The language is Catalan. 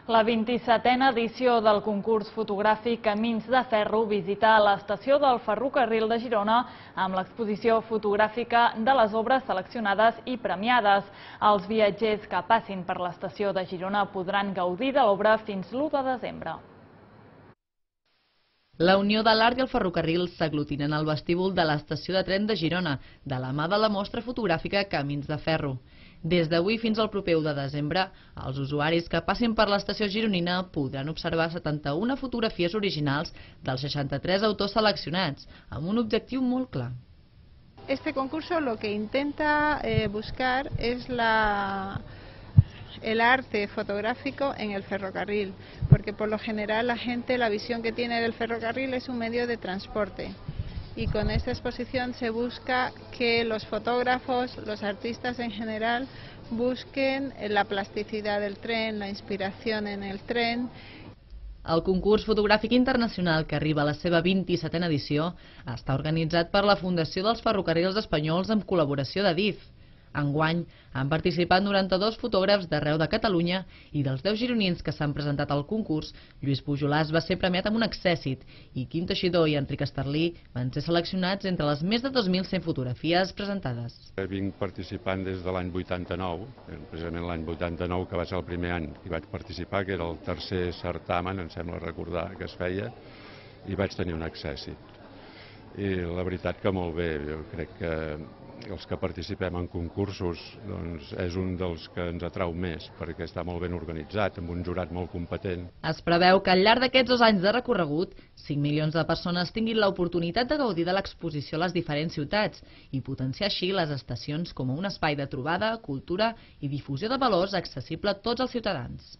La 27a edició del concurs fotogràfic Camins de Ferro visita l'estació del ferrocarril de Girona amb l'exposició fotogràfica de les obres seleccionades i premiades. Els viatgers que passin per l'estació de Girona podran gaudir de l'obra fins l'1 de desembre. La Unió de l'Art i el Ferrocarril s'aglutinen al vestíbul de l'estació de tren de Girona, de la mà de la mostra fotogràfica Camins de Ferro. Des d'avui fins al proper 1 de desembre, els usuaris que passin per l'estació gironina podran observar 71 fotografies originals dels 63 autors seleccionats, amb un objectiu molt clar. Este concurso lo que intenta buscar es el arte fotográfico en el ferrocarril, porque por lo general la visión que tiene del ferrocarril es un medio de transporte. Y con esta exposición se busca que los fotógrafos, los artistas en general, busquen la plasticidad del tren, la inspiración en el tren. El concurs fotogràfic internacional, que arriba a la seva 27a edició, està organitzat per la Fundació dels Ferrocarrils Espanyols amb col·laboració d'Adif. Enguany han participat 92 fotògrafs d'arreu de Catalunya i dels 10 gironins que s'han presentat al concurs, Lluís Pujolàs va ser premiat amb un accèssit i Quim Teixidor i Enric Esterlí van ser seleccionats entre les més de 2.100 fotografies presentades. Vinc participant des de l'any 89, precisament l'any 89, que va ser el primer any que vaig participar, que era el tercer certamen, em sembla recordar, que es feia, i vaig tenir un accèssit. I la veritat que molt bé, jo crec que els que participem en concursos és un dels que ens atrau més, perquè està molt ben organitzat, amb un jurat molt competent. Es preveu que al llarg d'aquests 2 anys de recorregut, 5 milions de persones tinguin l'oportunitat de gaudir de l'exposició a les diferents ciutats i potenciar així les estacions com a un espai de trobada, cultura i difusió de valors accessible a tots els ciutadans.